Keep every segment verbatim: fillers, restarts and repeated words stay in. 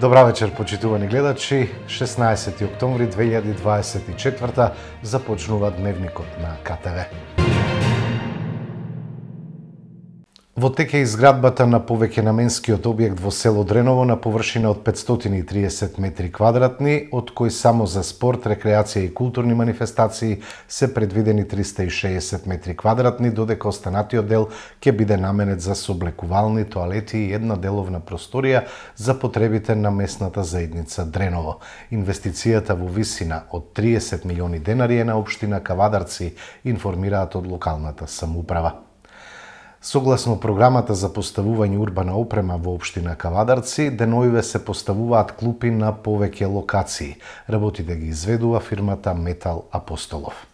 Добра вечер, почитувани гледачи. шеснаесети октомври две илјади дваесет и четврта започнува дневникот на К Т В. Во тек е изградбата на повеќенаменскиот објект во село Дреново на површина од петстотини и триесет метри квадратни, од кои само за спорт, рекреација и културни манифестации се предвидени триста и шеесет метри квадратни, додека останатиот дел ќе биде наменет за соблекувални, тоалети и една деловна просторија за потребите на местната заедница Дреново. Инвестицијата во висина од триесет милиони денари е на општина Кавадарци, информираат од локалната самоуправа. Согласно програмата за поставување урбана опрема во општина Кавадарци, деновиве се поставуваат клупи на повеќе локации. Работите ги изведува фирмата Метал Апостолов.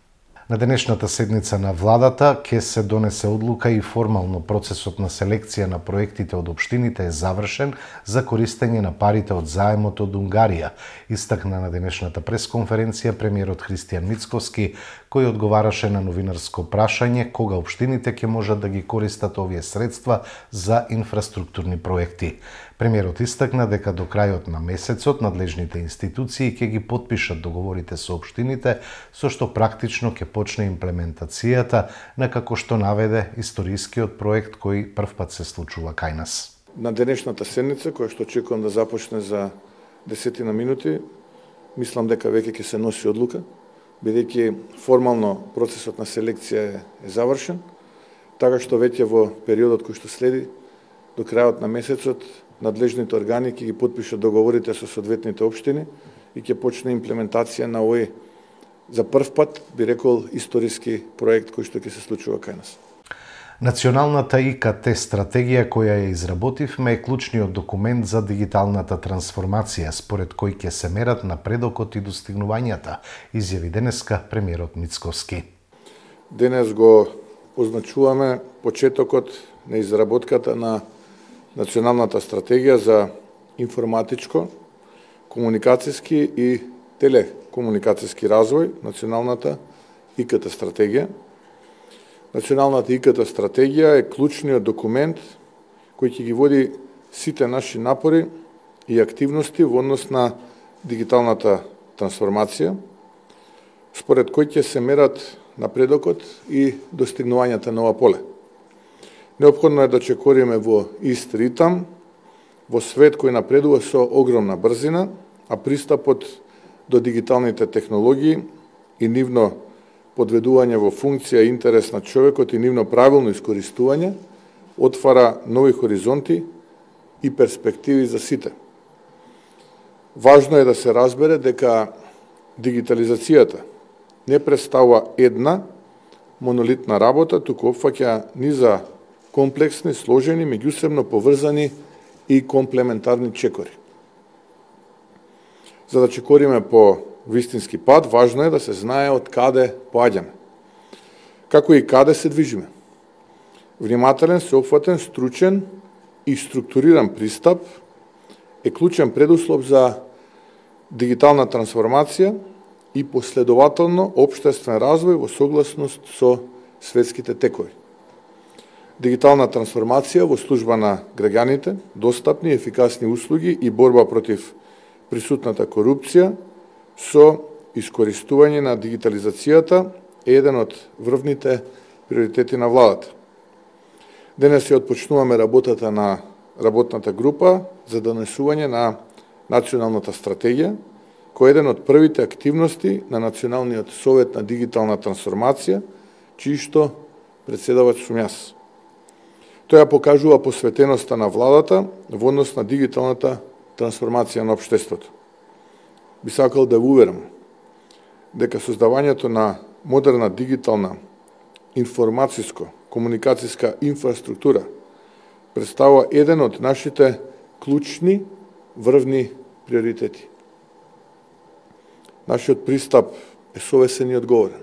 На денешната седница на владата ќе се донесе одлука и формално процесот на селекција на проектите од општините е завршен за користење на парите од заемот од Унгарија, истакна на денешната пресконференција премиерот Христијан Мицковски, кој одговараше на новинарско прашање кога општините ќе можат да ги користат овие средства за инфраструктурни проекти. Премиерот истакна дека до крајот на месецот надлежните институции ќе ги потпишат договорите со општините, со што практично ќе почне имплементацијата на, како што наведе, историскиот проект кој првпат се случува кај нас. На денешната седница, која што очекувам да започне за десетина минути, мислам дека веќе ќе се носи одлука, бидејќи формално процесот на селекција е, е завршен, така што веќе во периодот кој што следи, до крајот на месецот, надлежните органи ќе ги потпишат договорите со соодветните општини и ќе почне имплементација на овој за прв пат, би рекол, историски проект кој што ќе се случува кај нас. Националната И К Т стратегија која ја изработивме е клучниот документ за дигиталната трансформација, според кој ќе се мерат напредокот и достигнувањата, изјави денеска премиерот Мицковски. Денес го означуваме почетокот на изработката на Националната стратегија за информатичко, комуникацијски и телекомуникацијски развој, Националната И К Т стратегија. Националната И К Т стратегија е клучниот документ кој ќе ги води сите наши напори и активности во однос на дигиталната трансформација, според кој ќе се мерат напредокот и достигнувањата на ова поле. Неопходно е да чекориме во ист ритам, во свет кој напредува со огромна брзина, а пристапот до дигиталните технологии и нивно подведување во функција и интерес на човекот и нивно правилно искористување отвара нови хоризонти и перспективи за сите. Важно е да се разбере дека дигитализацијата не представува една монолитна работа, туку опфаќа низа комплексни, сложени, меѓусебно поврзани и комплементарни чекори. За да чекориме по вистински пат, важно е да се знае од каде поаѓаме, како и каде се движиме. Внимателен, сеопфатен, стручен и структуриран пристап е клучен предуслов за дигитална трансформација и последователно општествен развој во согласност со светските текови. Дигитална трансформација во служба на граѓаните, достапни и ефикасни услуги и борба против присутната корупција со искористување на дигитализацијата е еден од врвните приоритети на владата. Денес ја отпочнуваме работата на работната група за донесување на Националната стратегија, кој е еден од првите активности на Националниот совет на дигитална трансформација, чиј што председавач сум јас. Тоа покажува посветеноста на владата во однос на дигиталната трансформација на општеството. Би сакал да ви уверам дека создавањето на модерна дигитална информацијско-комуникацијска инфраструктура представува еден од нашите клучни врвни приоритети. Нашиот пристап е совесен и одговорен.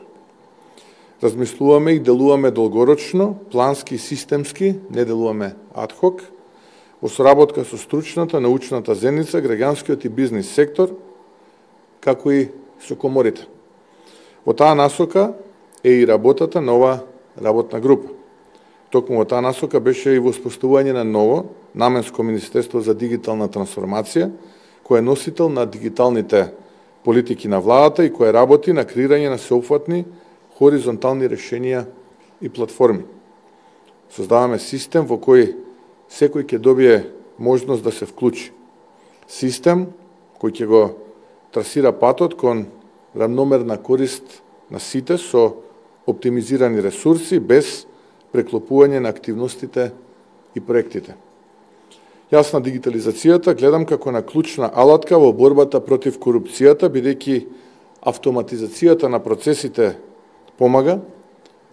Размислуваме и делуваме долгорочно, плански и системски, не делуваме адхок, во соработка со стручната, научната заедница, граѓанскиот и бизнис сектор, како и со коморите. Во таа насока е и работата на ова работна група. Токму во таа насока беше и воспоставување на ново наменско Министерство за дигитална трансформација, која е носител на дигиталните политики на владата и која работи на креирање на сеопфатни хоризонтални решенија и платформи. Создаваме систем во кој секој ќе добие можност да се вклучи. Систем кој ќе го трасира патот кон рамномерна корист на сите со оптимизирани ресурси без преклопување на активностите и проектите. Јас на дигитализацијата гледам како на клучна алатка во борбата против корупцијата, бидејќи автоматизацијата на процесите помага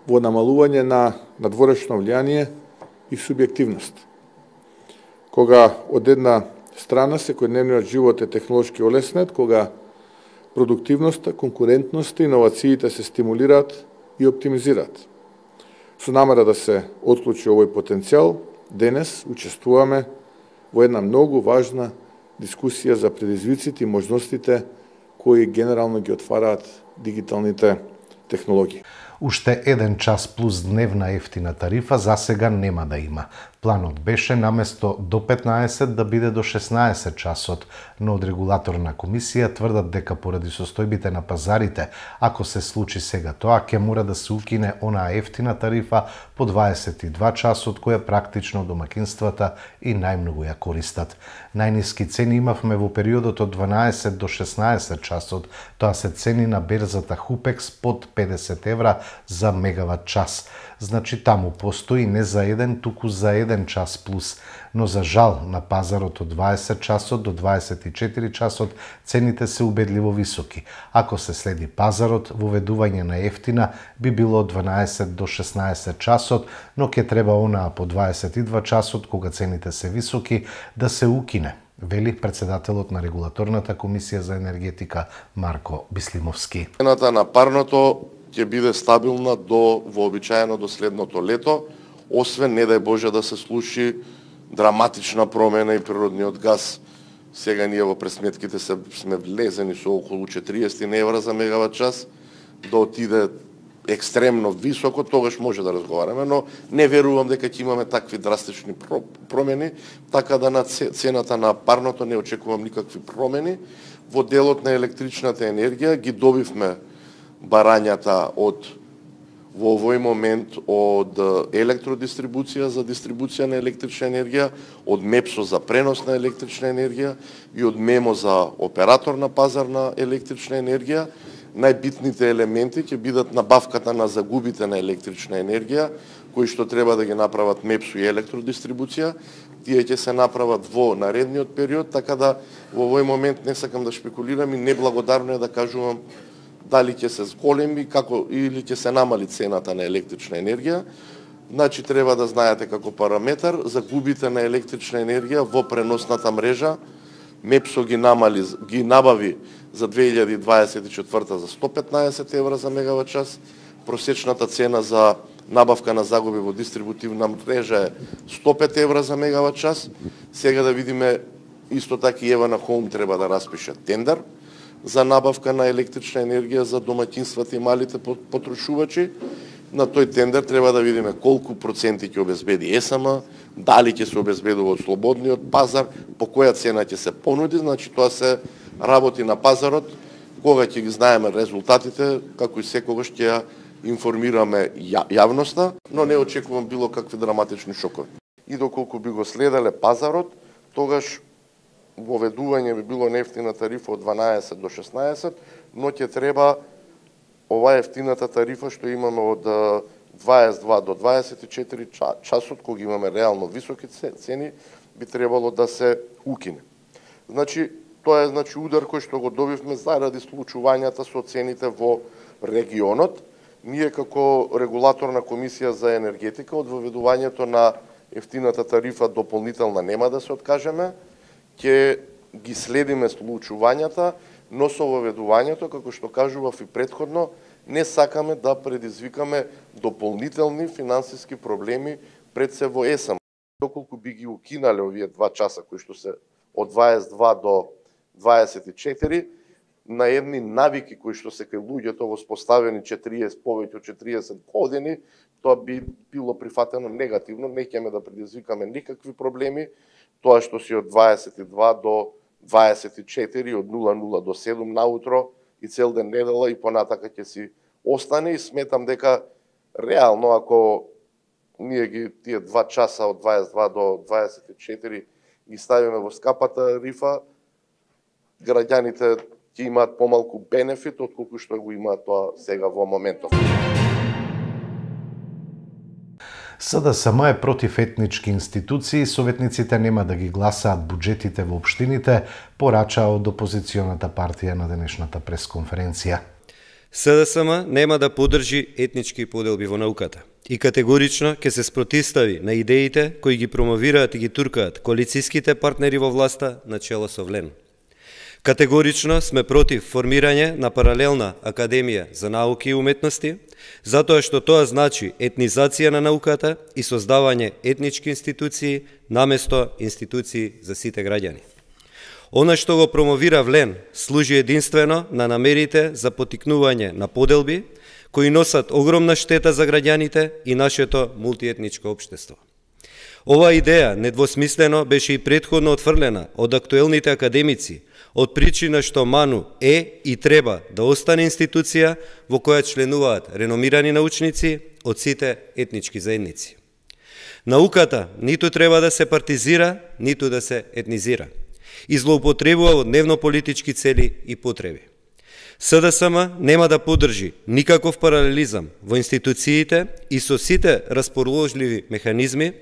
во намалување на надворешно влијание и субјективност. Кога од една страна секојдневниот живот е технолошки олеснет, кога продуктивноста, конкурентноста и иновациите се стимулираат и оптимизираат. Со намера да се отклучи овој потенцијал, денес учествуваме во една многу важна дискусија за предизвиците и можностите кои генерално ги отвараат дигиталните технологии. Уште еден час плюс дневна ефтина тарифа за сега нема да има. Планот беше наместо до петнаесет да биде до шеснаесет часот, но од регулаторна комисија тврдат дека поради состојбите на пазарите, ако се случи сега тоа, ќе мора да се укине онаа ефтина тарифа по дваесет и два часот, која практично домакинствата и најмногу ја користат. Најниски цени имавме во периодот од дванаесет до шеснаесет часот, тоа се цени на берзата Хупекс под педесет евра за мегават час. Значи таму постои не за еден, туку за еден час плюс. Но за жал на пазарот од дваесет часот до дваесет и четири часот цените се убедливо високи. Ако се следи пазарот, воведување на ефтина би било од дванаесет до шеснаесет часот, но ќе треба онаа по дваесет и два часот кога цените се високи да се укине, вели председателот на регулаторната комисија за енергетика Марко Бислимовски. Цената на парното ќе биде стабилна до вообичаено до следното лето, освен не дај Боже да се случи драматична промена и природниот газ. Сега ние во пресметките се, сме влезени со околу четириесет евра за мегават час, да отиде екстремно високо, тогаш може да разговараме, но не верувам дека ќе имаме такви драстични промени, така да на цената на парното не очекувам никакви промени. Во делот на електричната енергија ги добивме барањата од во овој момент од електродистрибуција за дистрибуција на електрична енергија, од МЕПСО за пренос на електрична енергија и од МЕМО за оператор на пазар на електрична енергија. Најбитните елементи ќе бидат набавката на загубите на електрична енергија, кои што треба да ги направат МЕПСО и електродистрибуција. Тие ќе се направат во наредниот период, така да во овој момент не сакам да шпекулирам и неблагодарно е да кажувам дали ќе се зголеми како или ќе се намали цената на електрична енергија. Значи треба да знаете како параметар загубите на електрична енергија во преносната мрежа. МЕПСО ги намали, ги набави за две илјади дваесет и четврта за сто петнаесет евра за мегават час. Просечната цена за набавка на загуби во дистрибутивна мрежа е сто пет евра за мегават час. Сега да видиме исто така и Ева на Хоум треба да распише тендер за набавка на електрична енергија за домаќинствата и малите потрошувачи. На тој тендер треба да видиме колку проценти ќе обезбеди ЕСМ, дали ќе се обезбедува од слободниот пазар, по која цена ќе се понуди, значи тоа се работи на пазарот, кога ќе ги знаеме резултатите, како и секогаш ќе ја информираме јавноста, но не очекувам било какви драматични шокови. И доколку би го следеле пазарот, тогаш воведување би било нефтина тарифа од дванаесет до шеснаесет, но ќе треба ова ефтината тарифа што имаме од дваесет и два до дваесет и четири часот, кога имаме реално високи цени, би требало да се укине. Значи, тоа е значи удар кој што го добивме заради случувањата со цените во регионот. Ние како регулаторна комисија за енергетика од воведувањето на ефтината тарифа дополнителна нема да се откажеме, ќе ги следиме случувањата, но со воведувањето, како што кажував и претходно, не сакаме да предизвикаме дополнителни финансиски проблеми пред се во ЕСМ. Доколку би ги укинале овие два часа кои што се од дваесет и два до дваесет и четири, на едни навики кои што се кај луѓето воспоставени четириесет повеќе од четириесет години, тоа би било прифатено негативно, не ќе да предизвикаме никакви проблеми. Тоа што си од дваесет и два до дваесет и четири од нула нула до седум наутро и цел ден недела и понатака ќе си остане и сметам дека реално ако ние ги тие два часа од дваесет и два до дваесет и четири ги ставиме во скапата рифа, граѓаните ќе имаат помалку бенефит отколку што го имаат тоа сега во моментов. СДСМ е против етнички институции, советниците нема да ги гласаат буџетите во општините, порача од опозиционата партија на денешната пресконференција. СДСМ нема да поддржи етнички поделби во науката и категорично ќе се спротивстави на идеите кои ги промовираат и ги туркаат коалицијските партнери во власта на чело со Влен. Категорично сме против формирање на паралелна академија за науки и уметности, затоа што тоа значи етнизација на науката и создавање етнички институции наместо институции за сите граѓани. Она што го промовира Влен служи единствено на намерите за потикнување на поделби кои носат огромна штета за граѓаните и нашето мултиетничко општество. Ова идеја недвосмислено беше и претходно отфрлена од актуелните академици, од причина што МАНУ е и треба да остане институција во која членуваат реномирани научници од сите етнички заедници. Науката ниту треба да се партизира, ниту да се етнизира и злоупотребува во дневно-политички цели и потреби. СДСМ нема да поддржи никаков паралелизам во институциите и со сите расположливи механизми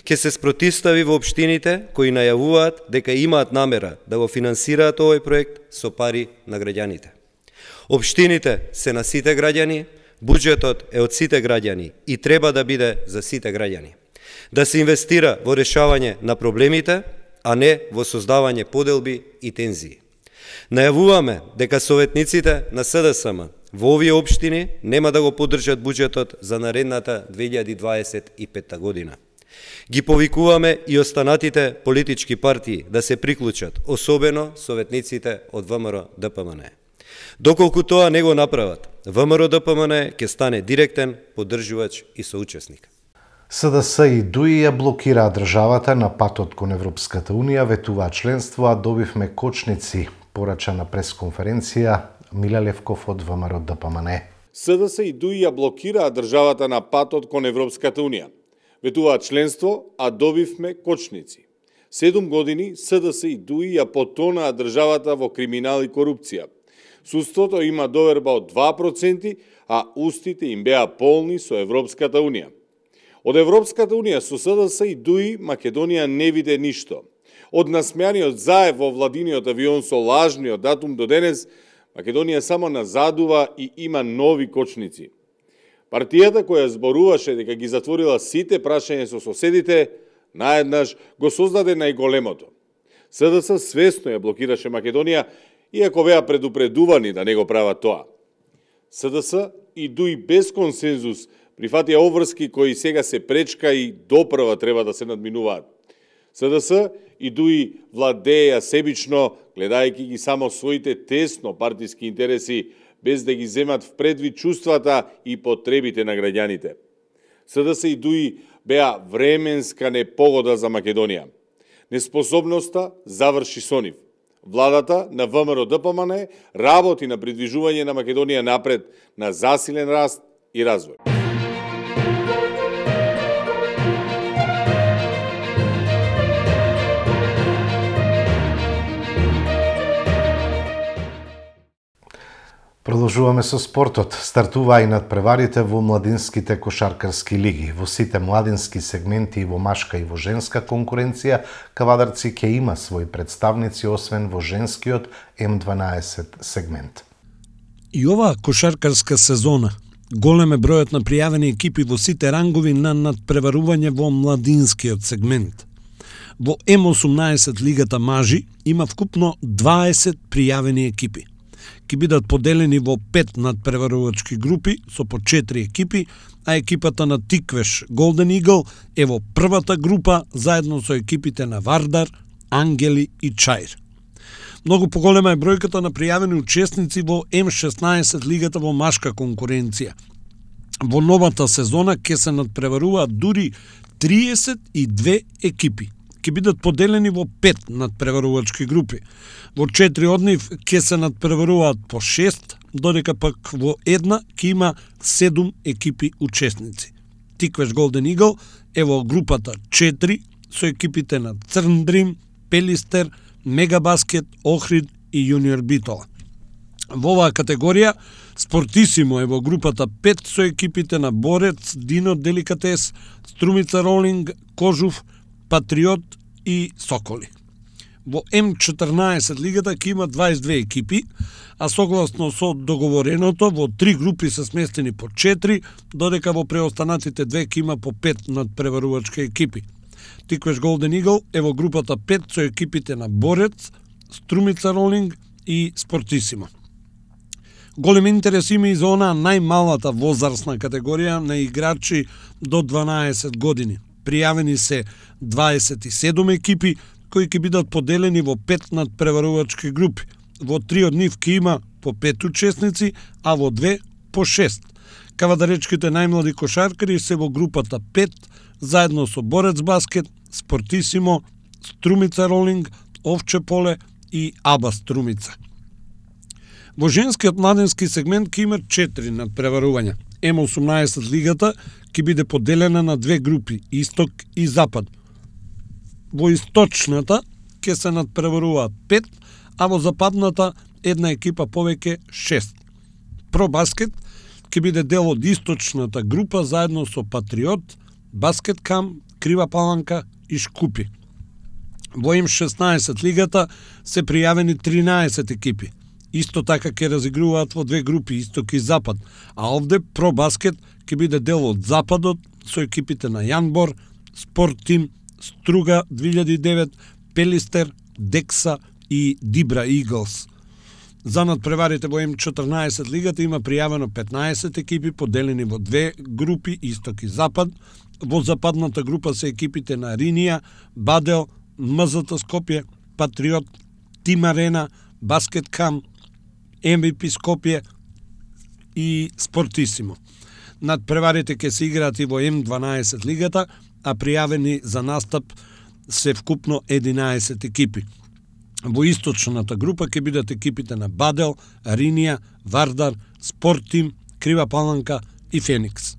ќе се спротивстави во општините кои најавуваат дека имаат намера да го финансираат овој проект со пари на граѓаните. Општините се на сите граѓани, буџетот е од сите граѓани и треба да биде за сите граѓани. Да се инвестира во решавање на проблемите, а не во создавање поделби и тензии. Најавуваме дека советниците на СДСМ во овие општини нема да го поддржат буџетот за наредната две илјади дваесет и петта година. Ги повикуваме и останатите политички партии да се приклучат, особено советниците од ВМРО-ДПМН. Доколку тоа не го направат, ВМРО-ДПМН ќе стане директен поддржувач и соучесник. СДС и ДУИ ја блокираа државата на патот кон Европската Унија, ветуваа членство, а добивме кочници, порача на пресконференција Миле Левков од ВМРО-ДПМН. СДС и ДУИ ја блокираа државата на патот кон Европската Унија. Ветуваат членство, а добивме кочници. Седум години СДС и ДУИ ја потонаа државата во криминал и корупција. Судството има доверба од два проценти, а устите им беа полни со Европската Унија. Од Европската Унија со СДС и ДУИ Македонија не виде ништо. Од насмеаниот заев во владиниот авион со лажниот датум до денес, Македонија само назадува и има нови кочници. Партијата која зборуваше дека ги затворила сите прашања со соседите, наеднаш го создаде најголемото. СДС свесно ја блокираше Македонија, иако беа предупредувани да не го прават тоа. СДС и ДУИ без консензус прифатија обврски кои сега се пречка и допрва треба да се надминуваат. СДС и ДУИ владеја себично, гледајќи ги само своите тесно партиски интереси, без да ги земат в предвид чувствата и потребите на граѓаните. СДС и ДУИ беа временска непогода за Македонија. Неспособноста заврши со нив. Владата на ВМРО-ДПМН работи на придвижување на Македонија напред на засилен раст и развој. Продолжуваме со спортот. Стартуваа и надпреварите во младинските кошаркарски лиги. Во сите младински сегменти и во машка и во женска конкуренција, Кавадарци ќе има своји представници, освен во женскиот М дванаесет сегмент. И оваа кошаркарска сезона голем е бројот на пријавени екипи во сите рангови на надпреварување во младинскиот сегмент. Во М осумнаесет лигата мажи има вкупно дваесет пријавени екипи. Ке бидат поделени во пет надпреварувачки групи со по четири екипи, а екипата на Тиквеш Голден Игл е во првата група заедно со екипите на Вардар, Ангели и Чаир. Многу поголема е бројката на пријавени учесници во М шеснаесет лигата во машка конкуренција. Во новата сезона ќе се надпреваруваат дури триесет и две екипи. ќе бидат поделени во пет надпреварувачки групи. Во четири од нив ќе се надпреваруваат по шест, додека пак во една ќе има седум екипи учесници. Тиквеш Голден Игл е во групата четири со екипите на Црн Дрим, Пелистер, Мегабаскет, Охрид и Јуниор Битола. Во оваа категорија Спортисимо е во групата пет со екипите на Борец, Дино Деликатес, Струмица Ролинг, Кожув, Патриот и Соколи. Во М четрнаесет лигата ќе има дваесет и две екипи, а согласно со договореното во три групи се сместени по четири, додека во преостанатите две ќе има по пет надпреварувачки екипи. Тиквеш Голден Игл е во групата пет со екипите на Борец, Струмица Ролинг и Спортисимо. Голем интерес има и за онаа најмалата возрастна категорија на играчи до дванаесет години. Пријавени се дваесет и седум екипи кои ќе бидат поделени во пет надпреварувачки групи. Во три од нив ќе има по пет учесници, а во две по шест. Кавадаречките најмлади кошаркари се во групата пет, заедно со Борец Баскет, Спортисимо, Струмица Ролинг, Овче Поле и Аба Струмица. Во женскиот младенски сегмент ќе има четири надпреварувања. М осумнаесет лигата ќе биде поделена на две групи, Исток и Запад. Во источната ќе се надпреваруваат пет, а во западната една екипа повеќе шест. Про баскет ќе биде дел од источната група заедно со Патриот, Баскет Кам, Крива Паланка и Шкупи. Во М шеснаесет лигата се пријавени тринаесет екипи. Исто така ќе разигруваат во две групи, Исток и Запад, а овде Про Баскет ќе биде дел од Западот со екипите на Јанбор, Спорт Тим, Струга две илјади и девет, Пелистер, Декса и Дибра Иглс. За надпреварите во М четрнаесет лигата има пријавено петнаесет екипи поделени во две групи, Исток и Запад. Во западната група се екипите на Ринија, Бадел, МЗТ Скопје, Патриот, Тим Арена, Баскет Кам, М В П Скопје и Спортисимо. Надпреварите ќе се играат и во М дванаесет лигата, а пријавени за настап се вкупно единаесет екипи. Во источната група ќе бидат екипите на Бадел, Ринија, Вардар, Спорт Тим, Крива Паланка и Феникс.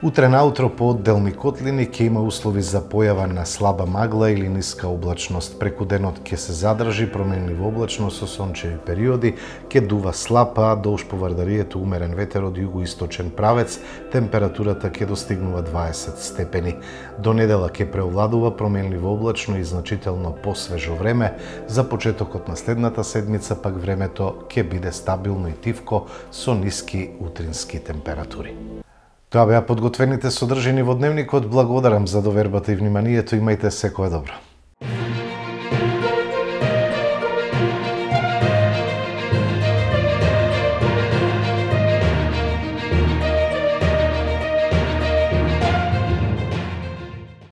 Утре наутро по одделни котлини ќе има услови за појава на слаба магла или ниска облачност. Преку денот ќе се задржи променлива облачност со сончеви периоди, ќе дува слаб, а долж по Вардарието умерен ветер од југоисточен правец, температурата ќе достигнува дваесет степени. До недела ќе преовладува променливо облачно и значително посвежо време. За почетокот на следната седмица пак времето ќе биде стабилно и тивко со ниски утрински температури. Тоа беа подготвените содржини во Дневникот. Благодарам за довербата и вниманието. Имајте секое добро.